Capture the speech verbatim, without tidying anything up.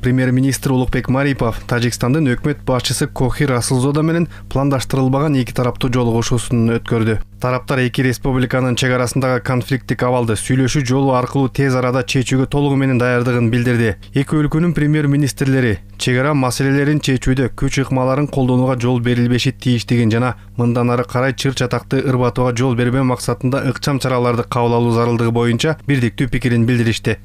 Премьер-министр Улукбек Марипов Тажикстандын өкмөт башчысы Кохир Расулзода менен пландаштырылбаган эки тараптуу жолугушуусун өткөрдү. Тараптар эки республиканын чек арасындагы конфликттик абалды сүйлөшүү жолу аркылуу тез арада чечүүгө толугу менен даярдыгын билдирди. Эки өлкөнүн премьер-министрлери чек ара маселелерин чечүүдө күч ыкмаларын колдонууга жол берилбеши тийиштигин жана мындан ары карай чыр чатакты ырбатууга жол бербөө максатында ыкчам чараларды кабыл алуу зарылдыгы боюнча бирдиктүү пикирин билдиришти.